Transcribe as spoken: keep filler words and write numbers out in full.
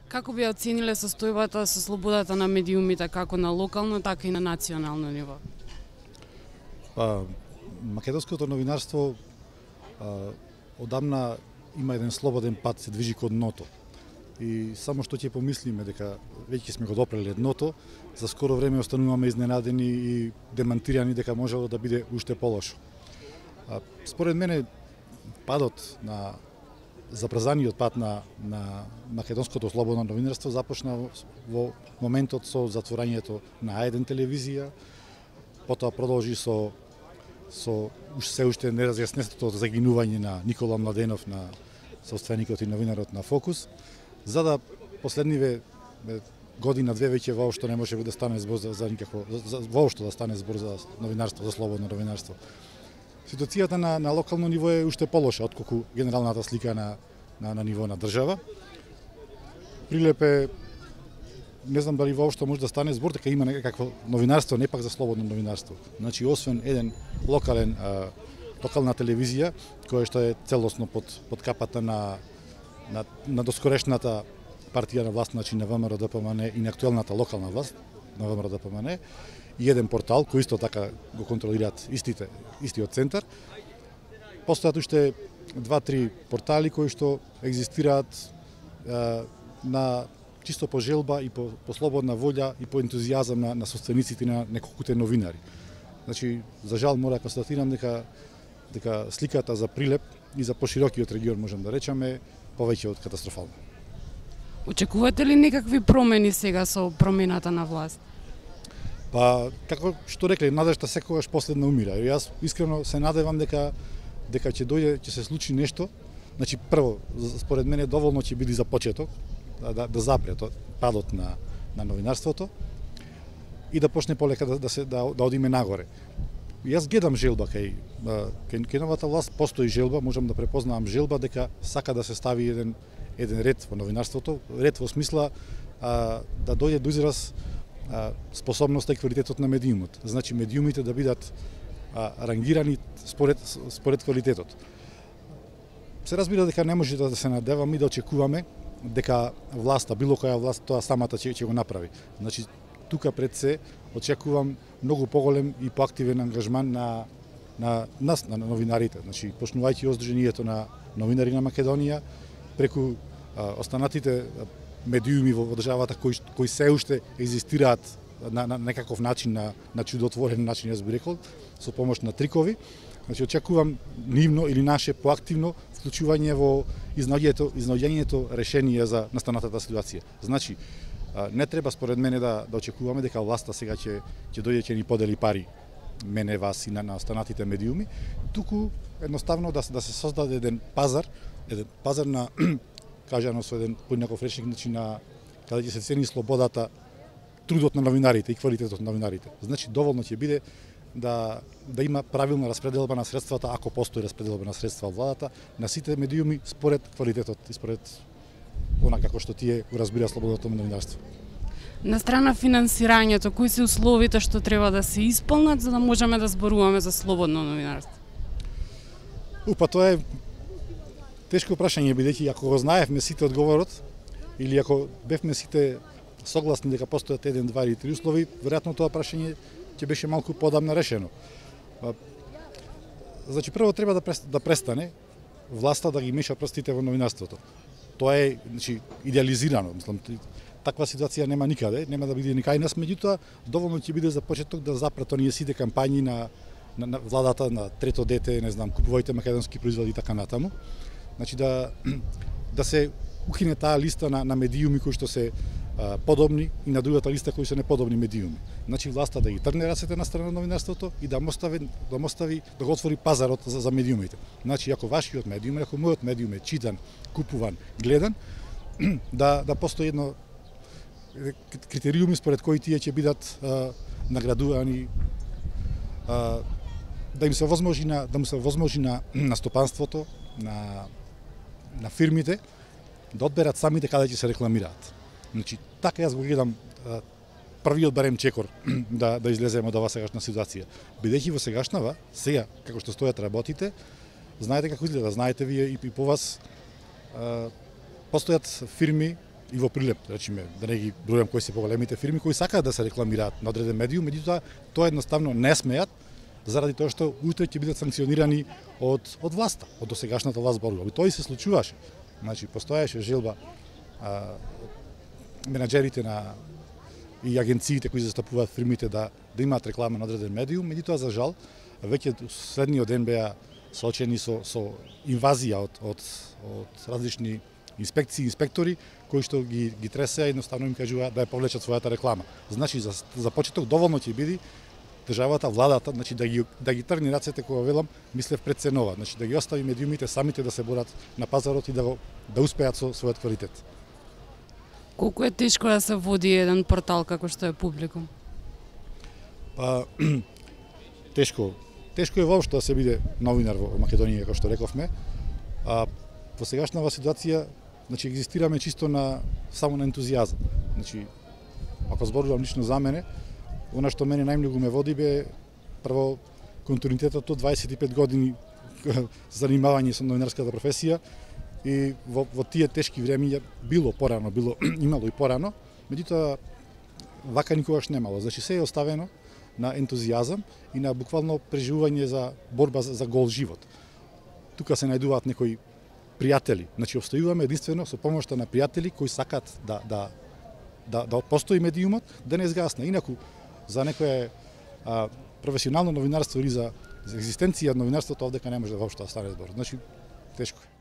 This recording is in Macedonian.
Како би оцениле состојбата со слободата на медиумите како на локално, така и на национално ниво? Па, македонското новинарство а, одамна има еден слободен пат, се движи кон дното. И само што ќе помислиме дека веќе сме го допрели дното, за скоро време остануваме изненадени и демантирани дека можело да биде уште полошо. А, според мене падот на забрзаниот пат на, на македонското слободно новинарство започна во моментот со затворањето на А еден телевизија, потоа продолжи со со се уште неразјаснетото загинување на Никола Младенов, на собственикот и новинарот на Фокус, за да последниве година две веќе воопшто не може да стане збор за, за никакво за, воопшто да стане збор за новинарство, за слободно новинарство. Ситуацијата на, на локално ниво е уште полоша отколку генералната слика на, на, на ниво на држава. Прилеп е, не знам дали воопшто може да стане збор дека има некакво новинарство, не пак за слободно новинарство. Значи, освен еден локален, а, локална телевизија, која што е целосно под, под капата на, на, на доскорешната партија на власт, значи на ВМРО-ДПМН и на актуелната локална власт на ВМРО-ДПМН, и еден портал кој исто така го контролираат истите, истиот центар. Постојат уште два-три портали кои што екзистираат е, на чисто по желба и по, по слободна волја и по ентузијазам на, на собствениците на неколкуте новинари. Значи, за жал мора да констатирам дека дека сликата за Прилеп и за поширокиот регион, можем да речеме, повеќе од катастрофална. Очекувате ли некакви промени сега со промената на власт? Па, како што рекле, надежта секогаш последна умира. И јас искрено се надевам дека дека ќе дојде, ќе се случи нешто. Значи, прво, според мене доволно ќе биде за почеток да, да, да запре тоа падот на на новинарството и да почне полека да, да се да, да одиме нагоре. Јас гледам желба кај кај, кај новата власт, постои желба, можам да препознавам желба дека сака да се стави еден еден ред во новинарството, ред во смисла а, да дојде до израз а, способноста и квалитетот на медиумот. Значи медиумите да бидат а, рангирани според според квалитетот. Се разбира дека не може да се надеваме и да очекуваме дека власта, било која власт, тоа самата ќе, ќе го направи. Значи, тука пред се очекувам многу поголем и поактивен ангажман на на нас, на новинарите. Значи, почнувајќи од Сдруженијето на новинари на Македонија, преку а, останатите медиуми во државата кои кои се уште екзистираат на, на некаков начин, на, на чудотворен начин, јас би рекол, со помош на трикови. Значи, очекувам нивно или наше поактивно вклучување во изнаоѓањето, изнаоѓањето решение за настанатата ситуација. Значи, не треба според мене да да очекуваме дека власта сега ќе ќе дојде ќе ни подели пари, мене, вас и на, на останатите медиуми, туку едноставно да да се создаде еден пазар, еден пазар на кажано со еден поинаков речник, значи на каде ќе се цени слободата, трудот на новинарите и квалитетот на новинарите. Значи, доволно ќе биде да да има правилна распределба на средствата, ако постои распределба на средства од владата, на сите медиуми според квалитетот и според она како што тие го разбира слободното новинарство. На страна финансирањето, кои се условите што треба да се исполнат за да можеме да зборуваме за слободно новинарство? Упа, тоа е тешко прашање, бидејќи ако го знаевме сите одговорот, или ако бевме сите согласни дека постојат еден, два или три услови, веројатно тоа прашање ќе беше малку подамна решено. Значи, прво треба да да престане власта да ги меша прстите во новинарството. Тоа е, значи, идеализирано, мислам, таква ситуација нема никаде, нема да биде ни кај нас, меѓутоа доволно ќе биде за почеток да запрат оние сите кампањи на, на, на владата на трето дете, не знам, купувајте македонски производи и така натаму. Значи да да се укине таа листа на, на медиуми кои што се а, подобни и на другата листа кои се неподобни медиуми. Значи власта да ги трне рацете на страна новинарството и да му остави да му остави да го отвори пазарот за, за медиумите. Значи ако вашиот медиум, ако мојот медиум е читан, купуван, гледан, да да постои едно критериуми според кои тие ќе бидат а, наградувани, а, да им се возможи на да му се возможи на на стопанството, на на фирмите да одберат самите каде ќе се рекламираат. Значи, така јас го гледам а, првиот барем чекор да да излеземе од оваа сегашна ситуација. Бидејќи во сегашнава, сега како што стојат работите, знаете како изгледа, знаете вие и по вас, а, постојат фирми и во прилеп, речиме, да не ги бројам кои се поголемите фирми кои сакаат да се рекламираат на одреден медиум, меѓутоа тоа едноставно не смеат заради тоа што утре ќе бидат санкционирани од од власта, од досегашната власт зборува. Тоа и се случуваше. Значи постоеше желба а, менаџерите на и агенциите кои застапуваат фирмите да да имаат реклама на одреден медиум, меѓутоа за жал веќе следниот ден беа соочени со со инвазија од од од различни инспекции, инспектори кои што ги ги тресеа едноставно им кажува да ја повлечат својата реклама. Значи за за почеток доволно ќе биде државата, владата, значи да ги да ги тргне рацете кога велам, мислев преценува, значи да ги остави медиумите самите да се борат на пазарот и да го да успеат со својот квалитет. Колку е тешко да се води еден портал како што е Публикум? Па тешко. Тешко е воопшто да се биде новинар во Македонија, како што рековме. А во сегашнава ситуација, значи екзистираме чисто на само на ентузијазам. Значи ако зборувам лично за мене, она што мене најмногу ме води бе прво континуитетот од дваесет и пет години занимавање со новинарската професија и во, во тие тешки времиња било порано, било имало и порано, меѓутоа вака никогаш немало. Значи се е оставено на ентузијазам и на буквално преживување за борба за, за гол живот. Тука се најдуваат некои пријатели. Значи обстојуваме единствено со помошта на пријатели кои сакат да да да да постои медиумот, да не згасне. Инаку за некое а, професионално новинарство или за, за екзистенција од новинарството овдека не може да воопшто да стане збор. Значи тешко е.